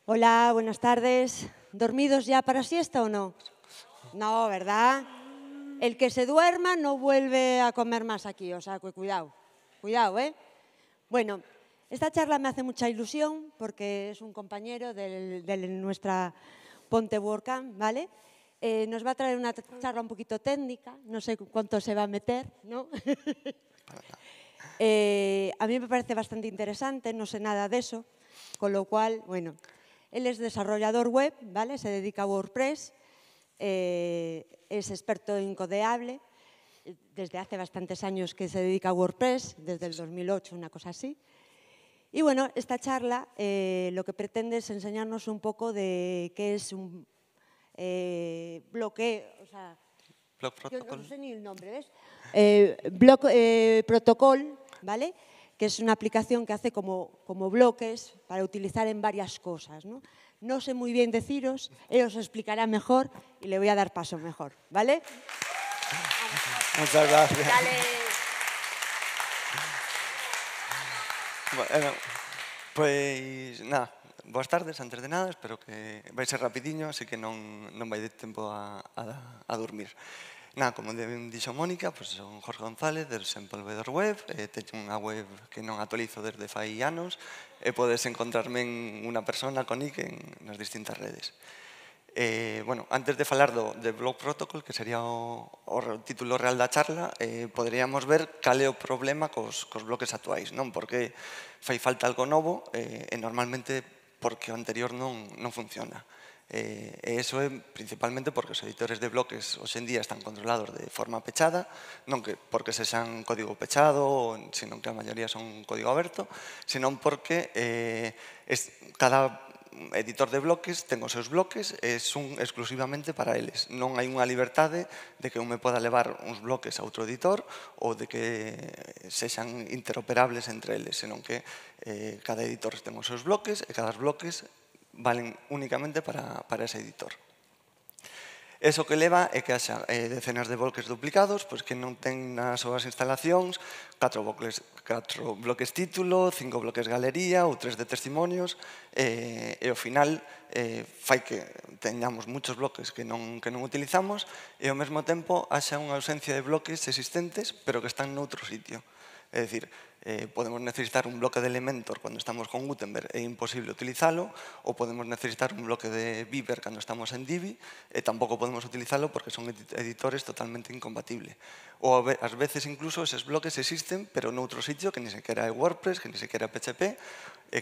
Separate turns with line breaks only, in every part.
Hola, buenas tardes. ¿Dormidos ya para siesta o no? No, ¿verdad? El que se duerma no vuelve a comer más aquí, o sea, cuidado, cuidado, ¿eh? Bueno, esta charla me hace mucha ilusión porque es un compañero de nuestra Ponte WordCamp, ¿vale? Nos va a traer una charla un poquito técnica, no sé cuánto se va a meter, ¿no? A mí me parece bastante interesante, no sé nada de eso, con lo cual, bueno, él es desarrollador web, ¿vale? Se dedica a WordPress, es experto en Codeable, desde hace bastantes años que se dedica a WordPress, desde el 2008, una cosa así. Y bueno, esta charla lo que pretende es enseñarnos un poco de qué es un bloque, o sea,
Block
yo
Protocol.
no sé ni el nombre, ¿ves? Block Protocol, ¿vale? Que es una aplicación que hace como bloques para utilizar en varias cosas, ¿no? No sé muy bien deciros, él os explicará mejor y le voy a dar paso mejor, ¿vale?
Muchas gracias.
Dale.
Bueno, pois, nada, boas tardes, antes de nada, espero que vai ser rapidiño, así que non vai de tempo a dormir. Nada, como dixo Mónica, pois son Jorge González, del Desenvolvedor Web, teño unha web que non actualizo desde fai anos, e podes encontrarme en unha persona con nick nas distintas redes. Bueno, antes de falar de Block Protocol, que sería o título real da charla, poderíamos ver cal é o problema cos bloques actuais, non? Porque fai falta algo novo e normalmente porque o anterior non funciona. E iso é principalmente porque os editores de bloques hoxe en día están controlados de forma pechada, non que porque sexan código pechado, senón que a maioría son código aberto, senón porque cada editor de bloques ten os seus bloques e son exclusivamente para eles. Non hai unha liberdade de que eu me poda levar uns bloques a outro editor ou de que sexan interoperables entre eles, senón que cada editor ten os seus bloques e cada bloques valen únicamente para ese editor. Eso que leva é que haxa decenas de bloques duplicados, pois que non ten nas súas instalacións 4 bloques título, 5 bloques galería ou 3 de testimonios, e ao final fai que teñamos muchos bloques que non utilizamos e ao mesmo tempo haxa unha ausencia de bloques existentes pero que están noutro sitio. É dicir, podemos necesitar un bloque de Elementor cando estamos con Gutenberg e é imposible utilizalo, ou podemos necesitar un bloque de Beaver cando estamos en Divi e tampouco podemos utilizalo porque son editores totalmente incompatibles. Ou ás veces incluso eses bloques existen pero noutro sitio que ni sequera é WordPress, que ni sequera é PHP e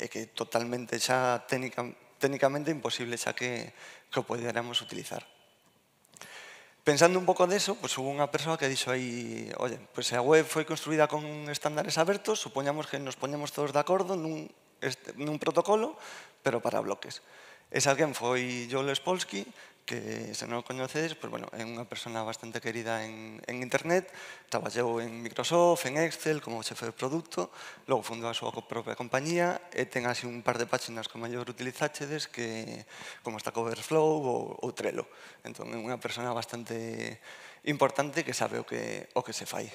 que totalmente xa técnicamente imposible xa que o poderamos utilizar. Pensando un pouco deso, pois hubo unha persoa que dixo aí, oye, pois se a web foi construída con estándares abertos, supoñamos que nos poñemos todos de acordo nun protocolo, pero para bloques. Ese alguén foi Joel Spolsky, que se non o coñecedes, pois, bueno, é unha persona bastante querida en internet, traballou en Microsoft, en Excel, como xefe de produto, logo fundou a súa propia compañía e ten así un par de páxinas que mellor utilizáchedes que como Stack Overflow ou Trello. Entón é unha persona bastante importante que sabe o que se fai.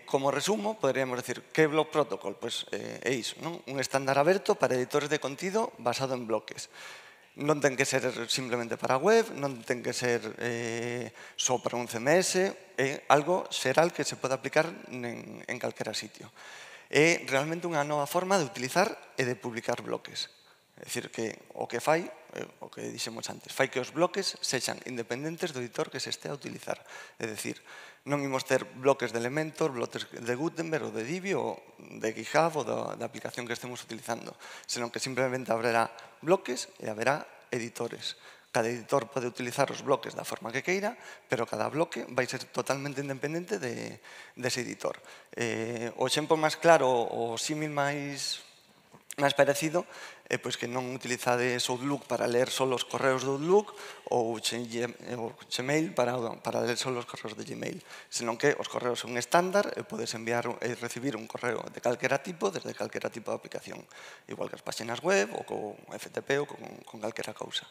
Como resumo, poderíamos decir que é Block Protocol? Pois é iso, non? Un estándar aberto para editores de contido basado en bloques. Non ten que ser simplemente para web, non ten que ser só para un CMS, é algo xeral que se pode aplicar en calquera sitio. É realmente unha nova forma de utilizar e de publicar bloques. É dicir, que o que fai, o que dixemos antes, fai que os bloques sexan independentes do editor que se estea a utilizar. É dicir, non imos ter bloques de Elementor, bloques de Gutenberg ou de Divi ou de GitHub ou da aplicación que estemos utilizando, senón que simplemente haberá bloques e haberá editores. Cada editor pode utilizar os bloques da forma que queira, pero cada bloque vai ser totalmente independente dese editor. O exemplo máis claro, o símil máis parecido é pois que non utilizades Outlook para ler só os correos do Outlook ou Gmail para ler só os correos de Gmail, senón que os correos son estándar e podes enviar e recibir un correo de calquera tipo desde calquera tipo de aplicación, igual que as páxinas web ou con FTP ou con calquera cousa.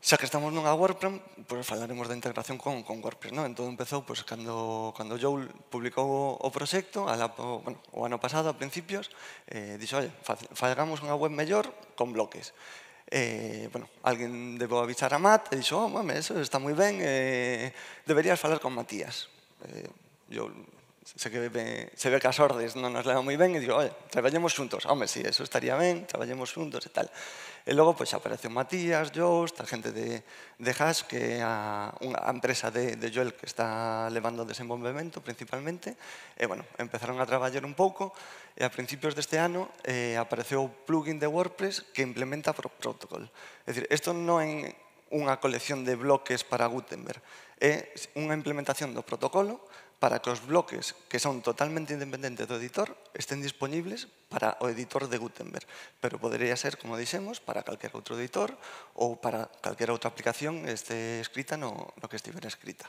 Xa que estamos nunha WordPress, pois falaremos da integración con WordPress, non? Entón empezou pois, cando Joel publicou o proxecto, o ano pasado, a principios, dixo, fagamos unha web mellor con bloques. Alguén debo avisar a Matt e dixo, eso está moi ben, deberías falar con Matías. Joel se ve que as ordes non nos levan moi ben e digo, traballemos xuntos. Home, si, eso estaría ben, traballemos xuntos e tal. E logo, pois, apareceu Matías, Joost, a xente de Hash, que é a empresa de Joel que está levando o desenvolvemento, principalmente. E, empezaron a traballar un pouco e a principios deste ano apareceu o plugin de WordPress que implementa Protocol. É dicir, isto non é unha colección de bloques para Gutenberg, é unha implementación do protocolo para que os bloques que son totalmente independentes do editor estén disponibles para o editor de Gutenberg. Pero podería ser, como dixemos, para calquer outro editor ou para calquer outra aplicación este escrita no que estivera escrita.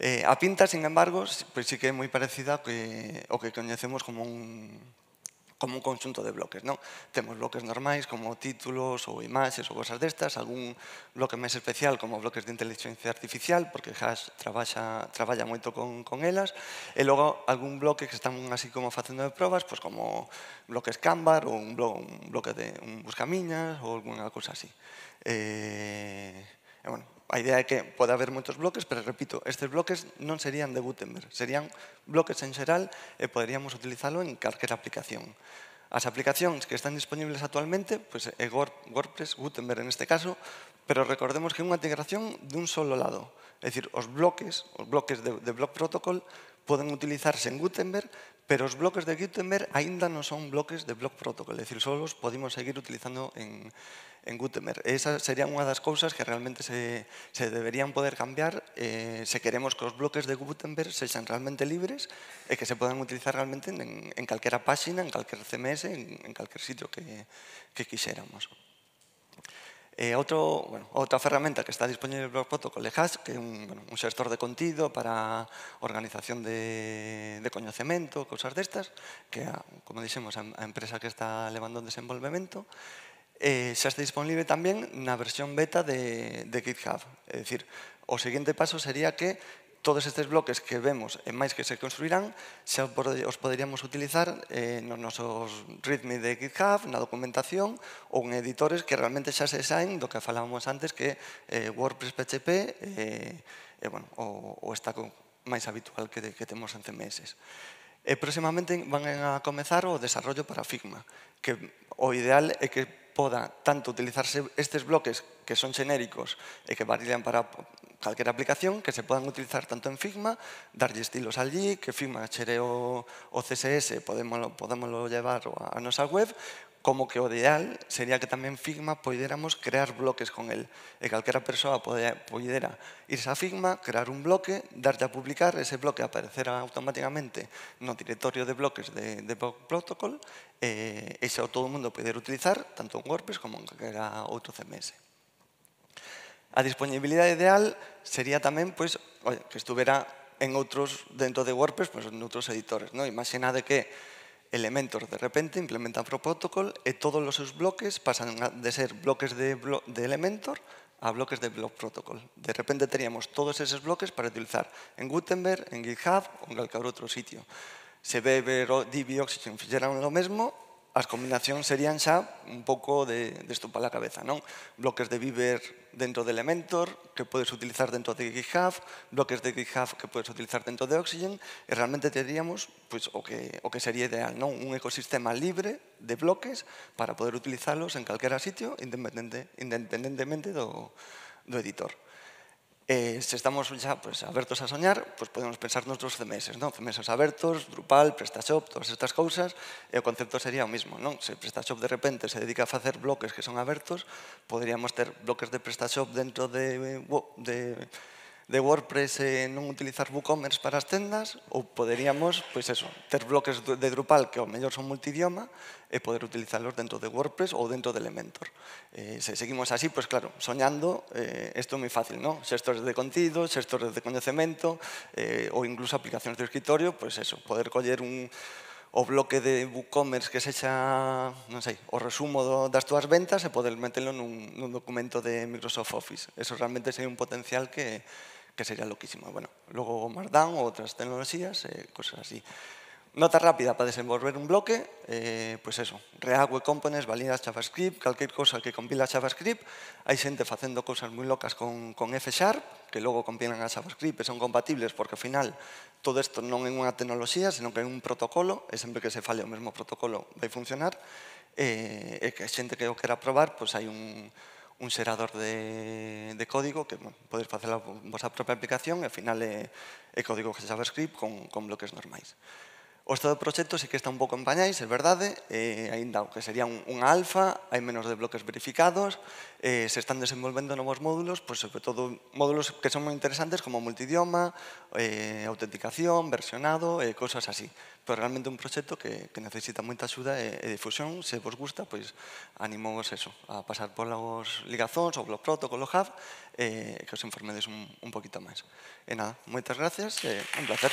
A pinta, sin embargo, pois sí que é moi parecida ao que coñecemos como un conxunto de bloques, non? Temos bloques normais como títulos ou imaxes ou cosas destas, algún bloque máis especial como bloques de inteligencia artificial, porque Hash traballa moito con elas, e logo algún bloque que están así como facendo de probas, pois como bloques Canva ou un bloque de un buscamiñas ou alguna cousa así. A idea é que pode haber moitos bloques, pero repito, estes bloques non serían de Gutenberg, serían bloques en xeral e poderíamos utilizalo en calquer aplicación. As aplicacións que están disponibles actualmente é WordPress, Gutenberg en este caso, pero recordemos que é unha integración dun solo lado. É dicir, os bloques de Block Protocol poden utilizarse en Gutenberg, pero os bloques de Gutenberg aínda non son bloques de Block Protocol, é dicir, só os podemos seguir utilizando en Gutenberg. Esa sería unha das cousas que realmente se deberían poder cambiar se queremos que os bloques de Gutenberg sexan realmente libres e que se podan utilizar realmente en calquera páxina, en calquer CMS, en calquer sitio que quixéramos. Outra ferramenta que está disponible en Block Protocol é Hash, que é un xestor de contido para organización de coñecemento, cousas destas, que é, como dixemos, a empresa que está levando o desenvolvemento. Xa está disponible tamén na versión beta de GitHub. É dicir, o seguinte paso sería que todos estes bloques que vemos e máis que se construirán xa os poderíamos utilizar nos nosos readme de GitHub, na documentación ou en editores que realmente xa se saen do que falábamos antes que WordPress PHP o stack máis habitual que temos en CMS. Próximamente van a comezar o desarrollo para Figma, que o ideal é que poda tanto utilizarse estes bloques que son xenéricos e que varían para calquera aplicación, que se podan utilizar tanto en Figma, darlle estilos allí, que Figma xere o CSS, podémoslo llevar a nosa web, como que o ideal sería que tamén Figma poidéramos crear bloques con el. E calquera persoa poidera irse a Figma, crear un bloque, darlle a publicar, ese bloque aparecerá automáticamente no directorio de bloques de Block Protocol e xa todo o mundo poder utilizar tanto en WordPress como en calquera outro CMS. A disponibilidade ideal sería tamén que estuvera dentro de WordPress en outros editores. Imaginade que Elementor de repente implementa Protocol e todos os seus bloques pasan de ser bloques de Elementor a bloques de Block Protocol. De repente teríamos todos eses bloques para utilizar en Gutenberg, en GitHub ou en calquer outro sitio. Se Beaver, Divi e Oxygen fixeran o mesmo, as combinacións serían xa un pouco de estupar a cabeza, non? Bloques de Beaver dentro de Elementor, que podes utilizar dentro de GitHub, bloques de GitHub que podes utilizar dentro de Oxygen, e realmente teríamos o que sería ideal, non? Un ecosistema libre de bloques para poder utilizalos en calquera sitio, independentemente do editor. Se estamos xa abertos a soñar, podemos pensar noutros CMS, CMS abertos, Drupal, PrestaShop, todas estas cousas, e o concepto sería o mismo. Se PrestaShop de repente se dedica a facer bloques que son abertos, poderíamos ter bloques de PrestaShop dentro de WordPress e non utilizar WooCommerce para as tendas, ou poderíamos ter bloques de Drupal que ao mellor son multidioma e poder utilizalos dentro de WordPress ou dentro de Elementor. Se seguimos así, claro, soñando, isto é moi fácil, non? Xestores de contido, xestores de coñecemento ou incluso aplicacións de escritorio, poder coller o bloque de WooCommerce que sexa, non sei, o resumo das túas ventas e poder metelo nun documento de Microsoft Office. Eso realmente sería un potencial que sería loquísimo. Bueno, logo Markdown ou outras tecnoloxías, cosas así. Nota rápida para desenvolver un bloque, pois eso, React Web Components, validas JavaScript, calquer cosa que compila JavaScript. Hai xente facendo cousas moi locas con F#, que logo compilan a JavaScript e son compatibles, porque ao final todo isto non é unha tecnoloxía, senón que é un protocolo, e sempre que se fale o mesmo protocolo vai funcionar, e que a xente que o quera probar, pois hai un xerador de código que podes facer a vosa propia aplicación e ao final é código JavaScript con bloques normais. O estado do proxecto sí que está un pouco en pañais, é verdade, aínda que sería unha alfa, hai menos de bloques verificados, se están desenvolvendo novos módulos, pois sobre todo módulos que son moi interesantes como multidioma, autenticación, versionado, cosas así. Pero realmente un proxecto que necesita moita axuda e difusión. Se vos gusta, pois animamos eso, a pasar polos ligazóns, o blog protocolo hub, que os informedes un poquito máis. E nada, moitas gracias, un placer.